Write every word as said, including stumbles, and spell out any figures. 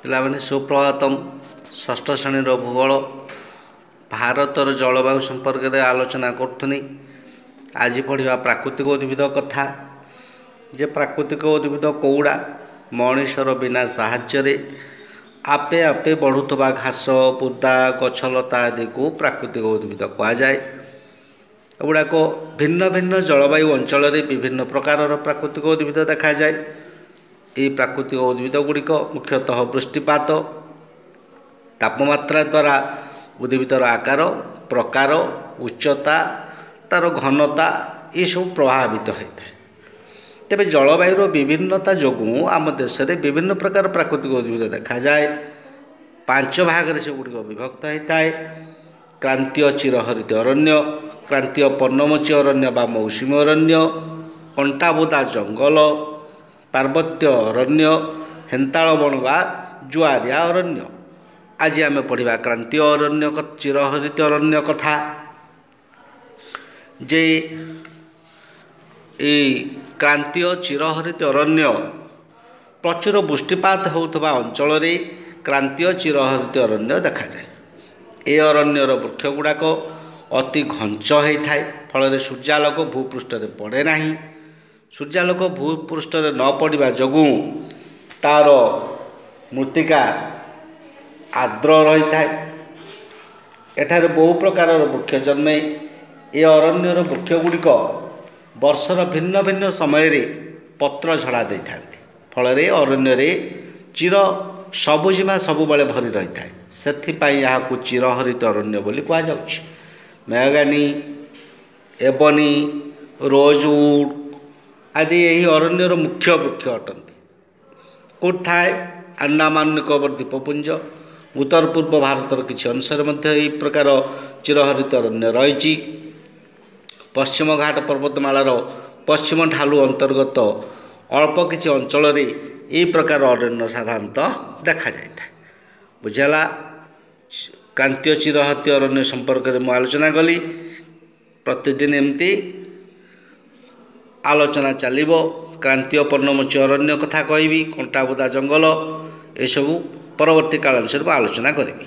ପିଲାମାନେ ସୁପ୍ରଭାତମ। ଷଷ୍ଠ ଶ୍ରେଣୀର ଭୂଗୋଳ, ଭାରତର ଜଳବାୟୁ ସମ୍ପର୍କରେ ଆଲୋଚନା କରୁଥିନି। ଆଜି ପଢ଼ିବା ପ୍ରାକୃତିକ ଉଦ୍ଭିଦ କଥା ଯେ ପ୍ରାକୃତିକ ଉଦ୍ଭିଦ କେଉଁଗୁଡ଼ା? ମଣିଷର ବିନା ସାହାଯ୍ୟରେ ଆପେ ଆପେ ବଢ଼ୁଥିବା ଘାସ, ବୁଦା, ଗଛଲତା ଆଦିକୁ ପ୍ରାକୃତିକ ଉଦ୍ଭିଦ କୁହାଯାଏ। ଏଗୁଡ଼ାକ ଭିନ୍ନ ଭିନ୍ନ ଜଳବାୟୁ ଅଞ୍ଚଳରେ ବିଭିନ୍ନ ପ୍ରକାରର ପ୍ରାକୃତିକ ଉଦ୍ଭିଦ ଦେଖାଯାଏ। ଏହି ପ୍ରାକୃତିକ ଉଦ୍ଭିଦ ଗୁଡ଼ିକ ମୁଖ୍ୟତଃ ବୃଷ୍ଟିପାତ, ତାପମାତ୍ରା ଦ୍ୱାରା ଉଦ୍ଭିଦର ଆକାର, ପ୍ରକାର, ଉଚ୍ଚତା, ତା'ର ଘନତା ଏସବୁ ପ୍ରଭାବିତ ହୋଇଥାଏ। ତେବେ ଜଳବାୟୁର ବିଭିନ୍ନତା ଯୋଗୁଁ ଆମ ଦେଶରେ ବିଭିନ୍ନ ପ୍ରକାର ପ୍ରାକୃତିକ ଉଦ୍ଭିଦ ଦେଖାଯାଏ। ପାଞ୍ଚ ଭାଗରେ ସେଗୁଡ଼ିକ ବିଭକ୍ତ ହୋଇଥାଏ: କ୍ରାନ୍ତୀୟ ଚିରହରିତ ଅରଣ୍ୟ, କ୍ରାନ୍ତୀୟ ପର୍ଣ୍ଣମୋଚୀ ଅରଣ୍ୟ ବା ମୌସୁମୀ ଅରଣ୍ୟ, କଣ୍ଟାବୁଦା ଜଙ୍ଗଲ, ପାର୍ବତ୍ୟ ଅରଣ୍ୟ, ହେନ୍ତାଳ ବଣ ବା ଜୁଆରିଆ ଅରଣ୍ୟ। ଆଜି ଆମେ ପଢ଼ିବା କ୍ରାନ୍ତୀୟ ଅରଣ୍ୟ, ଚିରହରିତ ଅରଣ୍ୟ କଥା ଯେ ଏଇ କ୍ରାନ୍ତୀୟ ଚିରହରିତ ଅରଣ୍ୟ, ପ୍ରଚୁର ବୃଷ୍ଟିପାତ ହେଉଥିବା ଅଞ୍ଚଳରେ କ୍ରାନ୍ତୀୟ ଚିରହରିତ ଅରଣ୍ୟ ଦେଖାଯାଏ। ଏ ଅରଣ୍ୟର ବୃକ୍ଷ ଗୁଡ଼ାକ ଅତି ଘଞ୍ଚ ହୋଇଥାଏ, ଫଳରେ ସୂର୍ଯ୍ୟାଲୋକ ଭୂପୃଷ୍ଠରେ ପଡ଼େ ନାହିଁ। ସୂର୍ଯ୍ୟାଲୋକ ଭୂପୃଷ୍ଠରେ ନ ପଡ଼ିବା ଯୋଗୁଁ ତା'ର ମୃତ୍ତିକା ଆର୍ଦ୍ର ରହିଥାଏ। ଏଠାରେ ବହୁ ପ୍ରକାରର ବୃକ୍ଷ ଜନ୍ମେ। ଏ ଅରଣ୍ୟର ବୃକ୍ଷ ଗୁଡ଼ିକ ବର୍ଷର ଭିନ୍ନ ଭିନ୍ନ ସମୟରେ ପତ୍ର ଝଡ଼ା ଦେଇଥାନ୍ତି, ଫଳରେ ଅରଣ୍ୟରେ ଚିର ସବୁଜିମା ସବୁବେଳେ ଭରି ରହିଥାଏ। ସେଥିପାଇଁ ଏହାକୁ ଚିରହରିତ ଅରଣ୍ୟ ବୋଲି କୁହାଯାଉଛି। ମେହଗାନି, ଏବନି, ରୋଜଉଡ଼ ଆଦି ଏହି ଅରଣ୍ୟର ମୁଖ୍ୟ ବୃକ୍ଷ ଅଟନ୍ତି। କେଉଁଠି ଥାଏ? ଆଣ୍ଡାମାନ ନିକୋବର ଦ୍ୱୀପପୁଞ୍ଜ, ଉତ୍ତର ପୂର୍ବ ଭାରତର କିଛି ଅଂଶରେ ମଧ୍ୟ ଏହି ପ୍ରକାର ଚିରହରିତ ଅରଣ୍ୟ ରହିଛି। ପଶ୍ଚିମ ଘାଟ ପର୍ବତମାଳାର ପଶ୍ଚିମ ଢାଲୁ ଅନ୍ତର୍ଗତ ଅଳ୍ପ କିଛି ଅଞ୍ଚଳରେ ଏହି ପ୍ରକାର ଅରଣ୍ୟ ସାଧାରଣତଃ ଦେଖାଯାଇଥାଏ। ବୁଝିହେଲା? କ୍ରାନ୍ତୀୟ ଚିରହରିତ ଅରଣ୍ୟ ସମ୍ପର୍କରେ ମୁଁ ଆଲୋଚନା କଲି। ପ୍ରତିଦିନ ଏମିତି ଆଲୋଚନା ଚାଲିବ। କ୍ରାନ୍ତୀୟ ପର୍ଣ୍ଣମୋଚୀ ଅରଣ୍ୟ କଥା କହିବି, କଣ୍ଟାବୁଦା ଜଙ୍ଗଲ, ଏସବୁ ପରବର୍ତ୍ତୀ କାଳାଂଶରେ ମୁଁ ଆଲୋଚନା କରିବି।